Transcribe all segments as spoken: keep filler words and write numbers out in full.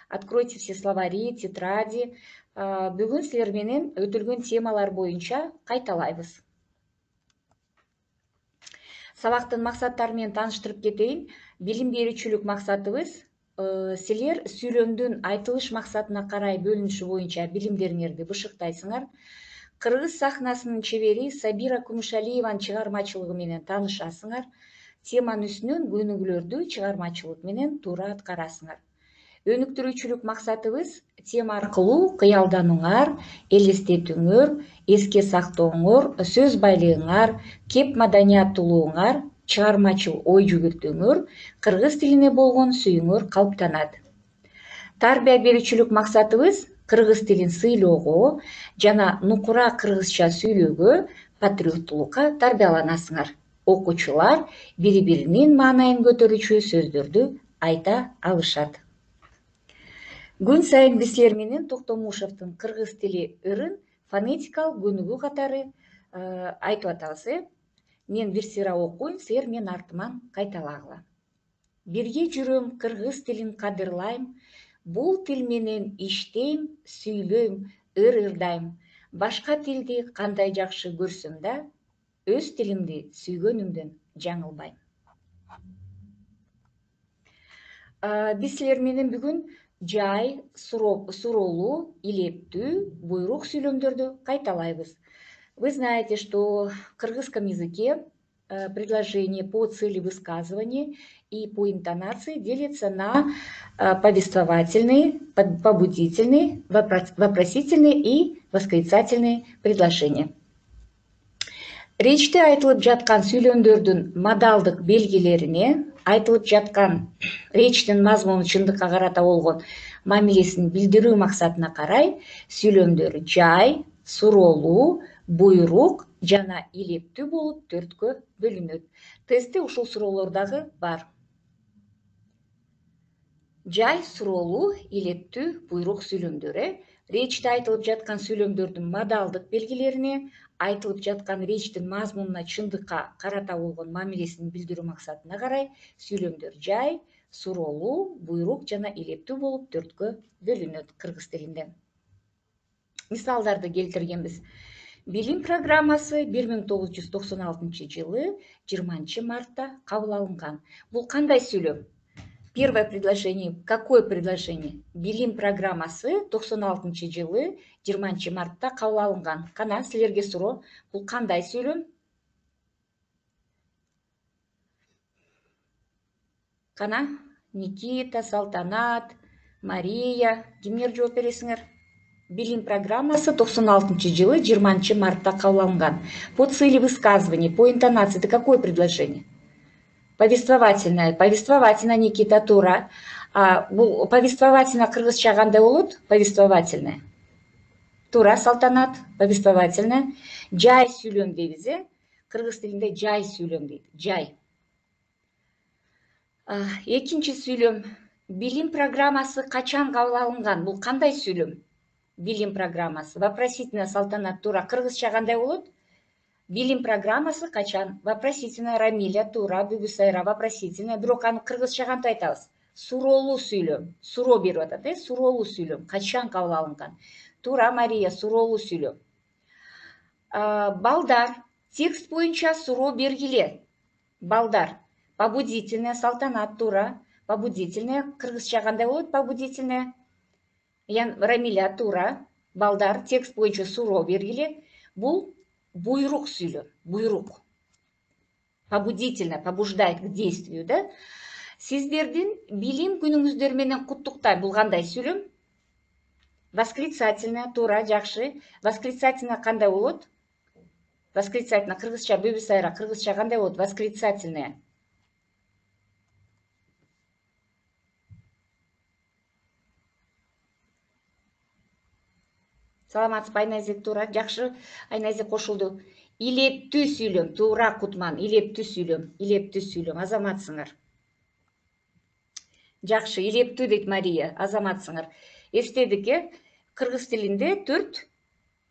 Откройте все словари, тетради. Бүгүн силер менен өтүлгөн темалар боюнча кайталайбыз. Сабактын максаттары менен тааныштырып кетейин. Билим берүүчүлүк максатыбыз силер сүйлөмдүн айтылыш максатына карай бөлүнүшү боюнча билимдериңерди бышыктайсыңар. Кыргыз сахнасынын чебери Сабира Кумушалиеванын чыгармачылыгы менен таанышасыңар. Теманын үстүнөн көнүгүүлөрдү чыгармачылык менен туура аткарасыңар. Өнүктүрүүчүлүк максатыбыз тема аркылуу кыялданууңар, элестетүүңөр, эске сактооңор, сөз байлыгыңар, кеп маданияттуулугуңар, чыгармачыл ой жүгүртүүңөр, кыргыз тилине болгон сүйүүңөр калыптанат. Тарбия берүүчүлүк максатыбыз кыргыз тилин сыйлоого жана нукура кыргызча сүйлөөгө, патриоттулукка тарбияланасыңар. Окуучулар бири-биринин маанайын көтөрүүчү сөздөрдү айта алышат. Күн сайын биз силер менен Токтомушевдин кыргыз тили ырын фонетикалык көнүгүү катары айтып атабыз, э? Мен бир сыйра окуйм, силер мен артыман кайталагыла. Бирге жүрөм, кыргыз тилин кадырлайм, бул тил менен иштейм, сүйлөйм, ыр-ырдайм. Башка тилди кандай жакшы көрсөм да, өз тилимди сүйгөнүмдөн жаңылбайм. Биз силер менен бүгүн жай, суроолуу, илептүү, буйрук сүйлөмдөрдү кайталайбыз. Вы знаете, что в кыргызском языке предложение по цели высказывания и по интонации делится на повествовательные, побудительные, вопросительные и восклицательные предложения. Речьте айтылып жаткан сүйлөмдөрдүн модалдык белгилерине, айтылып жаткан речьтин мазмунун чындыкка карата болгон мамилесин билдирүү максатына карай сүйлөмдөр жай, суроолуу, буйрук жана илептүү болуп төрткө бөлүнөт. Тестте ушул суроолор дагы бар. Жай, суроолуу, илептүү, буйрук сүйлөмдөр. Речьте айтылып жаткан сүйлөмдөрдүн модалдык белгилерине, айтылып жаткан речьтин мазмунуна чындыкка карата болгон мамилесин билдирүү максатына карай сүйлөмдөр жай, суроолуу, буйрук жана илептүү болуп төрткө бөлүнөт кыргыз тилинде. Мисалдарды келтиргенбиз. Билим программасы бир миң тогуз жүз токсон алтынчы жылы жыйырманчы мартта кабыл алынган. Бул кандай сүйлөм? Первое предложение. Какое предложение? Билим программасы токсон алтынчы жылы жыйырманчы мартта кабыл алынган. Кана, силерге суроо. Бул кандай сүйлөм? Кана, Никита, Салтанат, Мария, кимдер жооп бересиңер? Билим программасы токсон алтынчы жылы жыйырманчы мартта кабыл алынган. По цели высказывания, по интонации, это какое предложение? Повествовательное. Повествовательное, Никита, туура. А, бул повествовательное кыргызча кандай болот? Повествовательное. Туура, Салтанат, повествовательное. Жай сүйлөм дейбиз, э? Кыргыз тилинде жай сүйлөм дейт. Жай. Экинчи сүйлөм. Билим программасы качан кабыл алынган? Бул кандай сүйлөм? Билим программасы. Вопросительное, Салтанат, туура. Кыргызча кандай болот? Билим программасы качан? Вопросительное, Рамиля, туура. Бүгүсайра, вопросительное. Бирок аны кыргызча кантип айтабыз? Суроолуу сүйлөм. Суроо берип атат, э? Суроолуу сүйлөм. Качан кабыл алынган? Туура, Мария, суроолуу сүйлөм. Балдар. Текст боюнча суроо бергиле. Балдар. Побудительное, Салтанат, туура. Побудительное. Кыргызча кандай болот? Побудительное. Рамиля, туура. Балдар. Текст боюнча суроо бергиле. Бул буйрук сүйлөм. Буйрук. Побудительное, побуждает к действию, да? Сиздердин билим күнүңүздөр менен куттуктайм. Бул кандай сүйлөм? Восклицательное, туура, жакшы. Восклицательное кандай болот? Восклицательное кыргызча, Бүгүсайра, кыргызча кандай болот? Восклицательное. Саламатсызбы, Айназек, туура, жакшы. Айназек кошулду. Илептүү сүйлөм, туура, Кутман. Илептүү сүйлөм, илептүү сүйлөм. Азаматсыңар. Жакшы, илептүү дейт Мария. Азаматсыңар. Эстедик, э? Кыргыз тилинде төрт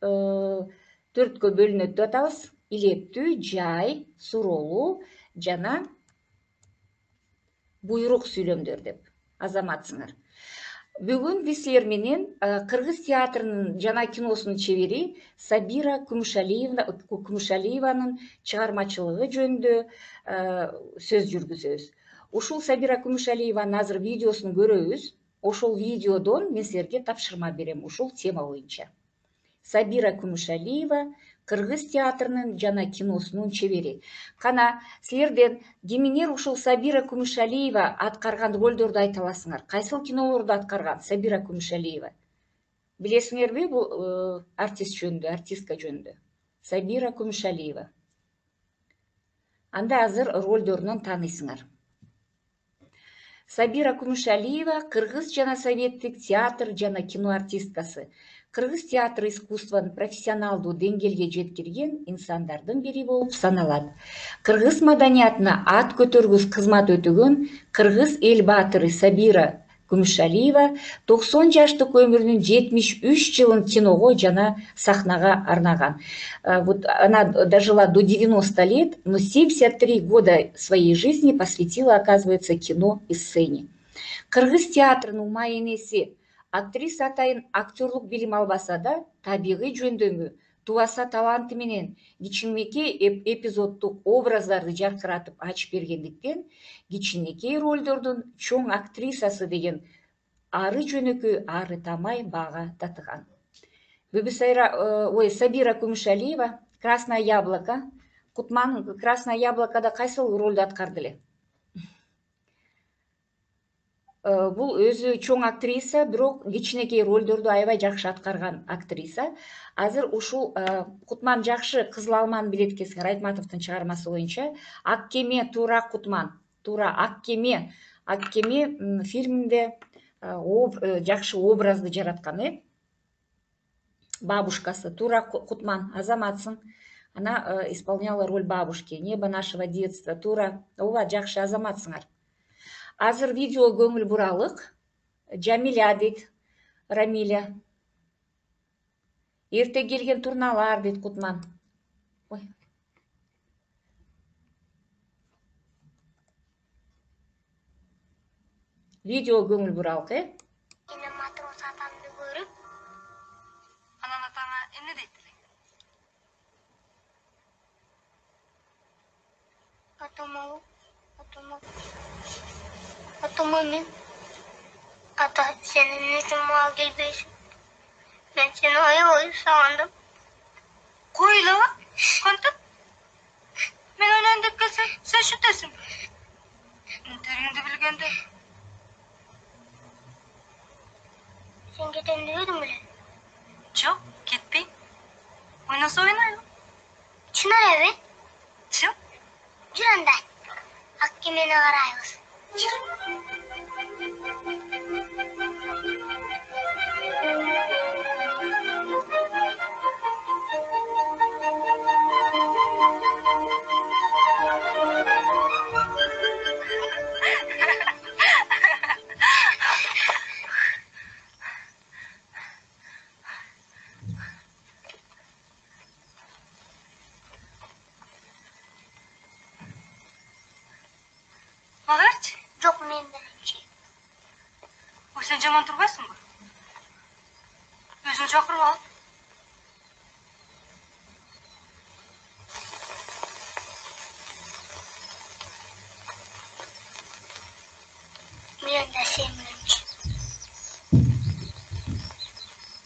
төрткө бөлүнөт деп атабыз. Илептүү, жай, суроолуу жана буйрук сүйлөмдөр деп. Азаматсыңар. Бүгүн биз силер менен кыргыз театрынын жана киносунун чебери Сабира Күмүшалиеванын чыгармачылыгы жөнүндө сөз жүргүзөбүз. Ушул Сабира Күмүшалиеванын азыр видеосун көрөбүз. Ошол видеодон мен силерге тапшырма берем ушул тема боюнча. Сабира Күмүшалиева кыргыз театрынын жана киносунун чебери. Кана силерден кимиңер ушул Сабира Күмүшалиева аткарган ролдорду айта аласыңар? Кайсыл кинолорду аткарган Сабира Күмүшалиева? Билесиңерби бул артист жөнүндө, артистка жөнүндө? Сабира Күмүшалиева. Анда азыр ролдорунан тааныйсыңар. Сабира Күмүшалиева кыргыз жана советтик театр жана кино артисткасы. Кыргыз театр искусствонун профессионалдуу деңгээлге жеткирген инсандардын бири болуп саналат. Кыргыз маданиятына ат көтөргүс кызмат өтөгөн кыргыз эл баатыры Сабира Күмүшалиева токсон жаштык өмүрүнүн жетимиш үч жылын киного жана сахнага арнаган. Вот она дожила до девяноста лет, но семьдесят три года своей жизни посвятила, оказывается, кино и сцене. Кыргыз театрынын маенеси актриса атайын актерлук билим албаса да, табигый жөндөмү, тубаса таланты менен кичинекей эпизоддук образдарды жаркыратып ачып бергендиктен, кичинекей ролдордун чоң актрисасы деген ары жөнөкөй, ары тамай баага татыган. Ой, Сабира Күмүшалиева, Красное яблоко. Кутман Красное яблокодо кайсыл ролду аткарды эле? Бул өзү чоң актриса, бирок кичинекей ролдорду аябай жакшы аткарган актриса. Азыр ушул Кутман жакшы Кызыл алманы билет экенсиңер, Айтматовдун чыгармасы боюнча. Ак кеме туура Кутман, туура Ак кеме, Ак кеме фильминде жакшы образды жараткан, э? Бабушкасы, туура Кутман, азаматсың. Она исполняла роль бабушки, небо нашего детства, туура, ооба, жакшы азаматсыңар. Азыр видео көңүл буралык. Жамиля дейт, Рамиля. Эрте келген турналар дейт Кутман. Ой. Видео көңүл буралык, э? Эне матрос атамды көрүп, анан атаңа эмне дейт элең? Атама, атама. Атама мен. Ата, сен эмне үчүн мага келбейсиң? Мен сени аябай сагындым. Койлова, кантип? Мен ойнойн деп келсем, сен шүтөсүң. Интериңди билгенде. Sen кетем дебедиң беле? Жок, кетпейм. Ойносо ойнойм. Чын элеби? Чын. Жүр анда. Ак кемени карайбыз. Магарчы? Жок, мен мененчи. Ой, сен жаман турбайсыңбы? Өзүң чакырып ал. Мен да сен мененчи.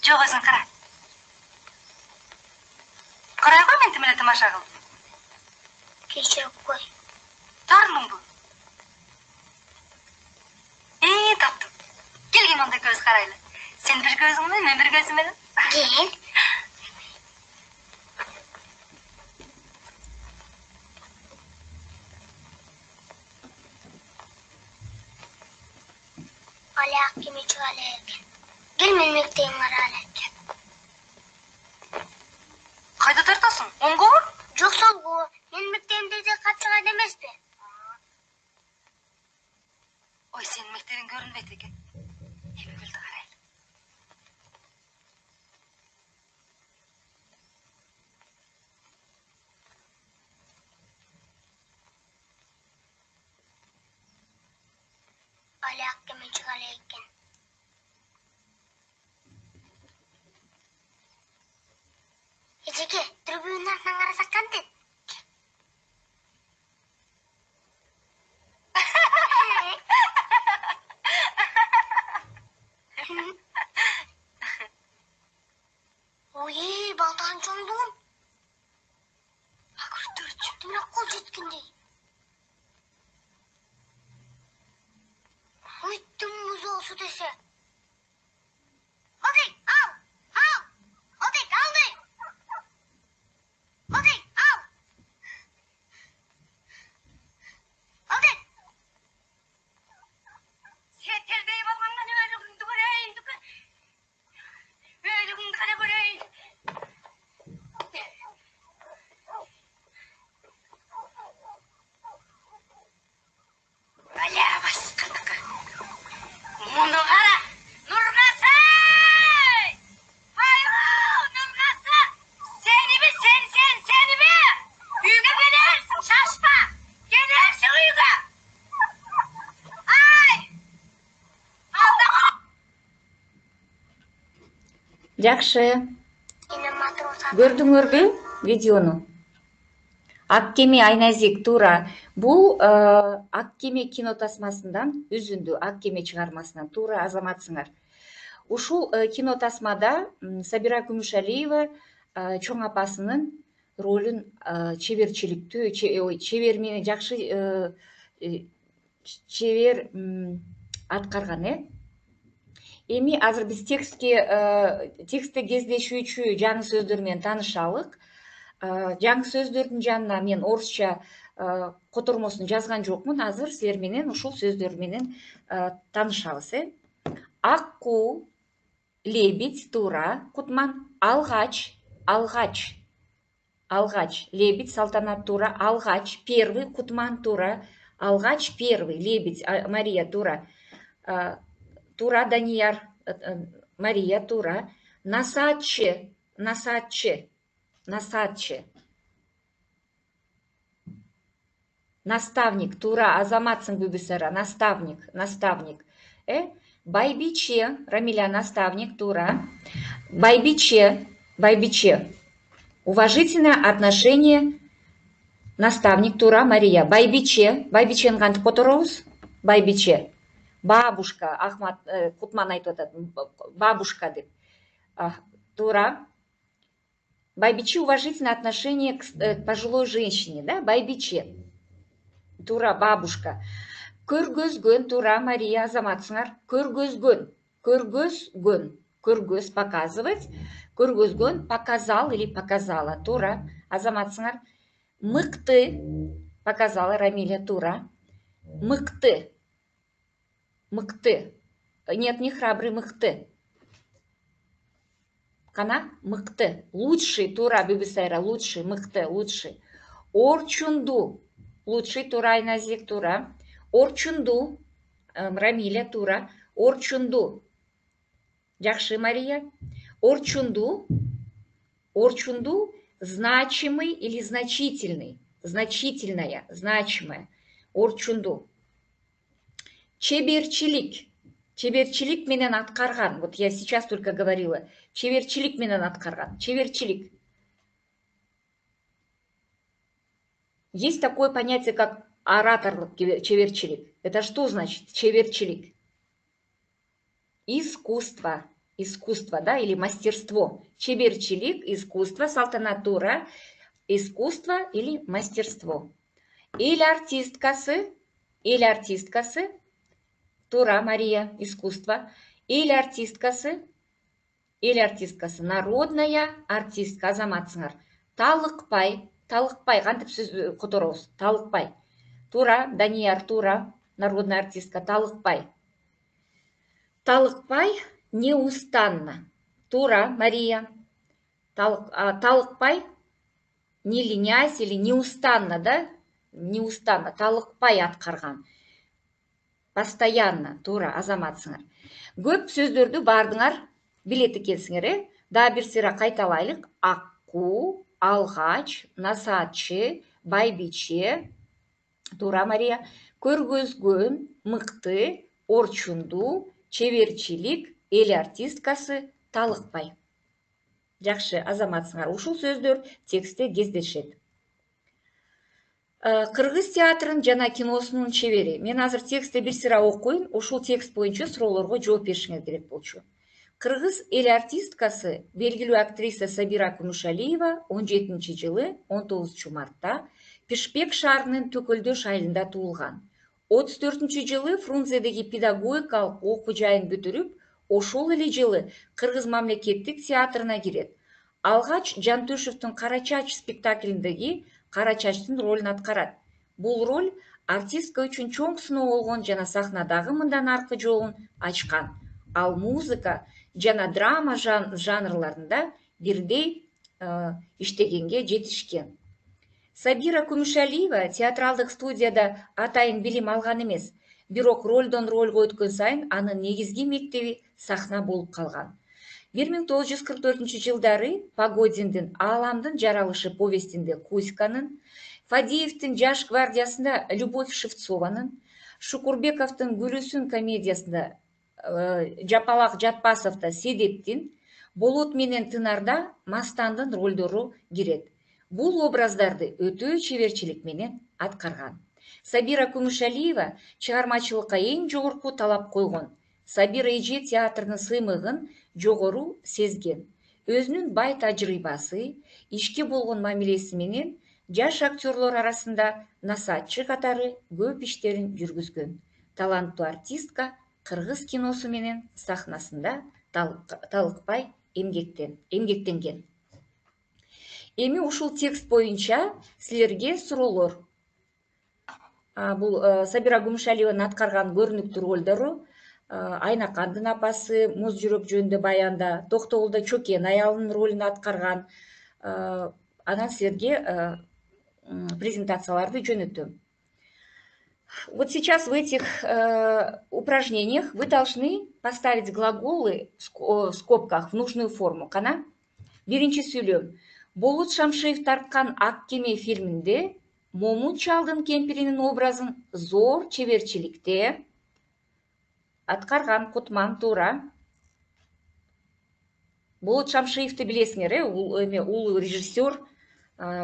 Жок, өзүң кара. Карай кой, мен тимеле тамаша кылып. Кечирип кой. Тарындыңбы? Эээ, таптым. Келгин онда көз карайлы. Сен бир көзүң менен, мен бир көзүм менен. Кел. Али ак кеме чыга эле экен. Кел, мен мектебиң кара эле. Кайда тартасың? Оңгобу? Жок, солгу. Мен мектебимде де катчыган эмеспи. Ой, сенин мектебиң көрүнбөйт экен. Эми гүлдү карайлы. Али ак кеме чыга эле экен. Мунун артынан карасак кантет? Ой, балтан чоңдун. Акыртыр чыптымак кол жеткендей. Ойттум музоосу десе. Одек, ал, ал, Одек, алды. Одек, ал. Одек. Сетелдей болгондон өлүгүңдү көрөйүн. Өлүгүңдү гана көрөйүн. Аля баскандыкы. Муну кара, Нургасы! Айгу, Нургасы! Сениби, сен, сен, сениби! Үйгө келерсиң, шашпа! Келерсиң үйгө! Ай! Алда кал! Жакшы. Көрдүңөрбү видеону? Ак кеме Айназик туура. Бул Ак кеме кино тасмасынан үзүндү, Ак кеме чыгармасынан туура азаматсыңар. Ушул кино тасмада Сабира Күмүшалиева чоң апасынын ролун чеберчиликтүү, чебер менен жакшы чебер аткарган, э? Эми азыр биз текстке текстте кездешүүчү жаңы сөздөр менен таанышалык. Жаңы сөздөрдүн жанына мен орусча котормосун жазган жокмун. Азыр силер менен ушул сөздөр менен таанышабыз, э? Акку, лебедь, туура, Кутман, алгач, алгач, алгач, лебедь, Салтанат, туура, алгач, первый, Кутман, туура, алгач, первый, лебедь, Мария, туура, туура, Данияр, Мария, туура, насаатчы, насаатчы, насаатчы, наставник, туура, азаматсың Бүбүсара, наставник, наставник, э? Байбиче, Рамиля, наставник, туура, байбиче, байбиче, уважительное отношение, наставник, туура, Мария, байбиче, байбичени кантип которобуз? Байбиче, бабушка, Ахмат, Кутман айтып атат, бабушка деп, туура. Байбиче, уважительное отношение к пожилой женщине, да, байбиче, туура, бабушка. Көргөзгөн, туура, Мария, азаматсыңар, көргөзгөн, көргөзгөн, көргөз, показывать, көргөзгөн, показал или показала, туура, азаматсыңар. Мыкты, показала, Рамиля, туура, мыкты, мыкты, нет, не храбрый, мыкты. Кана, мыкты, лучший, туура, Бүбүсайра, лучший, мыкты, лучший. Орчунду, лучший, туура, Айназик, туура. Орчунду, Рамиля, туура, орчунду. Жакшы, Мария. Орчунду, орчунду, значимый или значительный, значительная, значимая. Орчунду. Чеберчилик, чеберчилик менен аткарган. Вот я сейчас только говорила. Чеберчилик менен аткарган. Чеберчилик. Есть такое понятие, как ораторлык, чеберчилик. Это что значит чеберчилик? Искусство. Искусство, да, или мастерство. Чеберчилик, искусство, Салтанат, туура, искусство или мастерство. Или артисткасы, или артисткасы, туура, Мария, искусство. Или артисткасы, или артисткасы, народная артистка, азаматсыңар. Талыкпай, талыкпай, кантип сөз которобуз? Талыкпай. Туура, Данияр, туура, народная артистка, талыкпай. Талыкпай, неустанно. Туура, Мария. Талыкпай, не ленясь или неустанно, да? Неустанно, талыкпай аткарган. Постоянно, туура, азаматсыңар. Көп сөздөрдү бардыңар билет экенсиңер, э? Дагы бир сыйра кайталайлык. Акку, алгач, насаатчы, байбиче, туура, Мария. Көргөзгөн, мыкты, орчунду, чеберчилик, эл артисткасы, талыкпай. Жакшы, азаматсыңар. Ушул сөздөр текстте кездешет. Кыргыз театрынын жана киносунун чебери. Мен азыр текстти бир сыйра окуйм, ушул текст боюнча суроолорго жооп беришиңер керек болчу. Кыргыз эл артисткасы, белгилүү актриса Сабира Күмүшалиева он жетинчи жылы он тогузунчу мартта Пишпек шаарынын Төкөлдөш айылында туулган. отуз төртүнчү жылы Фрунзедеги педагогикалык окуу жайын бүтүрүп, ошол эле жылы Кыргыз мамлекеттик театрына кирет. Алгач Жантөшевдин Кара чач спектаклиндеги Кара чачтын ролун аткарат. Бул роль артистка үчүн чоң сыноо болгон жана сахнадагы мындан аркы жолун ачкан. Ал музыка жана драма жанрларында бирдей иштегенге жетишкен. Сабира Күмүшалиева театралдык студияда атайын билим алган эмес, бирок ролдон ролго өткөн сайын анын негизги мектеби сахна болуп калган. бир миң тогуз жүз кырк төртүнчү жылдары Погодиндин Ааламдын жаралышы повестинде Кузьканын, Фадеевдин Жаш гвардиясында Любовь Шевцованын, Шукурбековдун Гүлүсүн комедиясында Жапалак Жатпасовдо Седептин, Болот менен Тынарда Мастандын ролдору кирет. Бул образдарды өтө чеберчилик менен аткарган. Сабира Күмүшалиева чыгармачылыкка эң жогорку талап койгон. Сабира эже театрдын сыймыгын жогору сезген. Өзүнүн бай тажрыйбасы, ишке болгон мамилеси менен жаш актерлор арасында насаатчы катары көп иштерин жүргүзгөн. Таланттуу артистка кыргыз киносу менен сахнасында талыкпай эмгектенген. Эми ушул текст боюнча силерге суроолор. Бул Сабира Күмүшалиеванын аткарган көрүнүктүү ролдору: Айнакандын апасы Муз жүрөк жөнүндө баянда, Токтогулда Чокен аялынын ролун аткарган. Анан силерге презентацияларды жөнөтөм. Вот сейчас в этих упражнениях вы должны поставить глаголы в скобках в нужную форму. Кана? Биринчи сүйлөм. Болот Шамшиев тарткан Ак кеме фильминде Момун чалдын кемпиринин образын зор чеберчиликте аткарган. Кутман, туура. Болот Шамшиевди билесиңер, э? Бул эме улуу режиссер,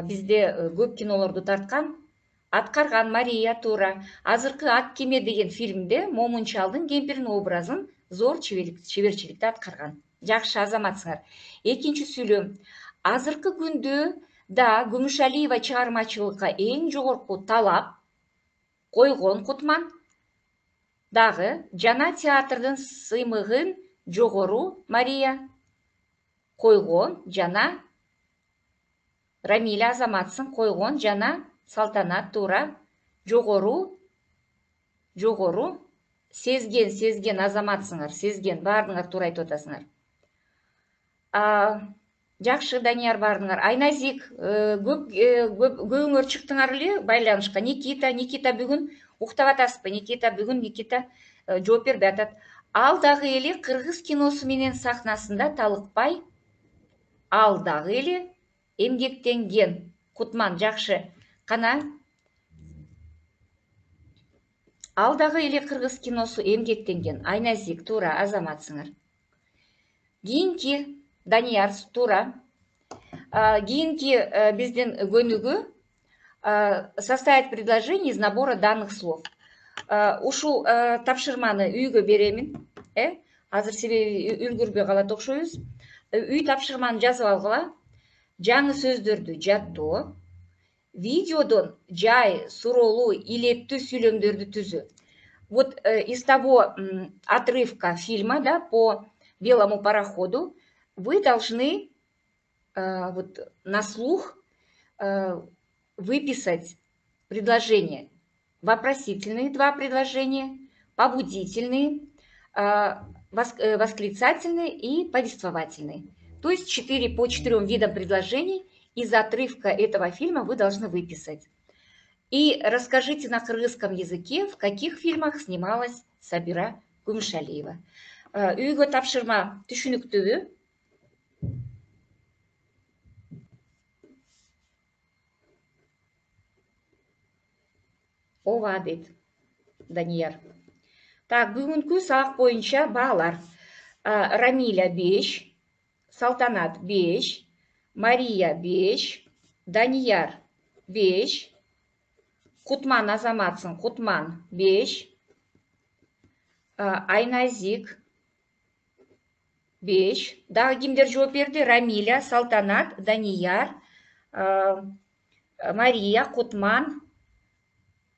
бизде көп кинолорду тарткан. Аткарган. Мария, туура. Азыркы Ак кеме деген фильмде Момун чалдын кемпиринин образын зор чеберчиликте аткарган. Жакшы, азаматсыңар. Экинчи сүйлөм. Азыркы күндө да Күмүшалиева чыгармачылыкка эң жогорку талап койгон. Кутман. Дагы жана театрдын сыймыгын жогору. Мария. Койгон жана. Рамиля, азаматсың. Койгон жана. Салтанат, туура. Жогору. Жогору. Сезген, сезген, азаматсыңар. Сезген, баардыгыңар туура айтып атасыңар. Жакшы, Данияр, баардыгыңар. Айназик, көбүңөр чыктыңар эле байланышка. Никита, Никита бүгүн уктап атасызбы? Никита бүгүн Никита жооп бербей атат. Ал дагы эле кыргыз киносу менен сахнасында талыкпай, ал дагы эле эмгектенген. Кутман, жакшы. Кана? Ал дагы эле кыргыз киносу эмгектенген. Айназик, туура, азаматсыңар. Кийинки Данияр, туура. Кийинки биздин көнүгүү составить предложение из набора данных слов. Ушул тапшырманы үйгө беремин. Э? Азыр себеби үлгүрбөй калат окшойбуз. Үй тапшырманы жазып алгыла. Жаңы сөздөрдү жаттоо. Видеодон жай, суроолуу, илеттүү сүйлөмдөрдү түзүү. Вот из того отрывка фильма, да, по белому пароходу, вы должны вот на слух выписать предложения. Вопросительные два предложения, побудительные, восклицательные и повествовательные. То есть четыре по четырем видам предложений из отрывка этого фильма вы должны выписать. И расскажите на кыргызском языке, в каких фильмах снималась Сабира Күмүшалиева. Үйгө тапшырма түшүнүктүүбү? Ооба, дейт Данияр. Так, бүгүнкү сабак боюнча баалар. Рамиля беш, Салтанат беш, Мария беш, Данияр беш, Кутман Азаматсың, Кутман беш, Айназик беш. Дагы кимдер жооп берди? Рамиля, Салтанат, Данияр, Мария, Кутман,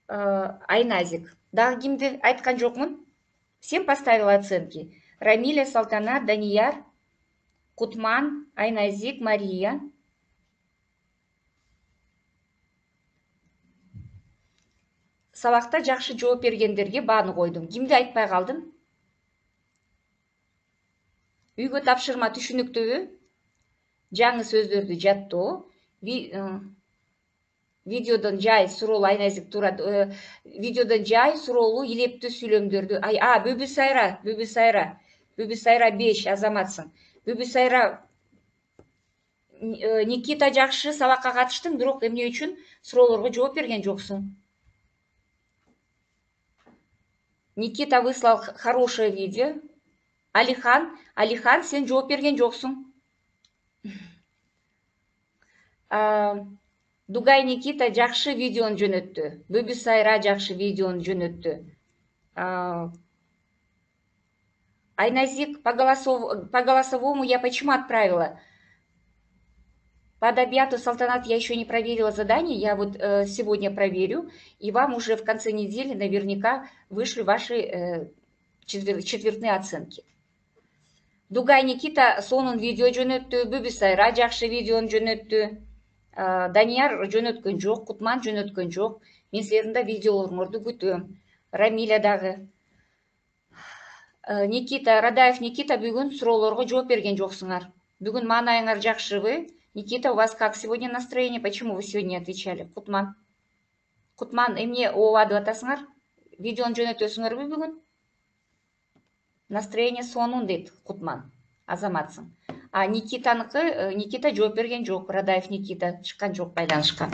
Айназик. Дагы кимди айткан жокмун? Всем поставила оценки. Рамиля, Салтанат, Данияр, Кутман, Айназик, Мария. Сабакта жакшы жооп бергендерге бааны койдум. Кимди айтпай калдым? Үйгө тапшырма түшүнүктүүбү? Жаңы сөздөрдү жаттоо. Видеодон жай суроолуу Айназик турат. Видеодон жай суроолуу илептүү сүйлөмдөрдү. А, Бүбү Сайра, Бүбү Сайра. Бүбү Сайра беш, Азаматсың. Бүбү Сайра, Никита жакшы сабакка катыштың, бирок эмне үчүн суроолорго жооп берген жоксуң? Никита выслал хорошее видео. Алихан, Алихан, сен жооп берген жоксуң. Дугай Никита жакшы видеону жөнөттү. Бүбү Сайра жакшы видеону жөнөттү. Айназик, по голосовому я почему отправила? По адабиату Салтанат я еще не проверила задание. Я вот э, сегодня проверю. И вам уже в конце недели наверняка вышлю ваши э, четвер четвертные оценки. Дугай Никита сонун видео жөнөттү. Бүбү Сайра жакшы видеону жөнөттү. Данияр жөнөткөн жок, Кутман жөнөткөн жок. Мен силердин да видеолоруңорду күтөм. Рамиля дагы. Никита, Радаев Никита бүгүн суроолорго жооп берген жоксуңар. Бүгүн маанайыңар жакшыбы? Никита, у вас как сегодня настроение? Почему вы сегодня отвечали? Кутман. Кутман, эмне ооба деп атасыңар? Видеону жөнөтөсүңөрбү бүгүн? Настроение сонун дейт Кутман. Азаматсың. А Никитаныкы, Никита жооп берген жок. Радаев Никита чыккан жок байланышка.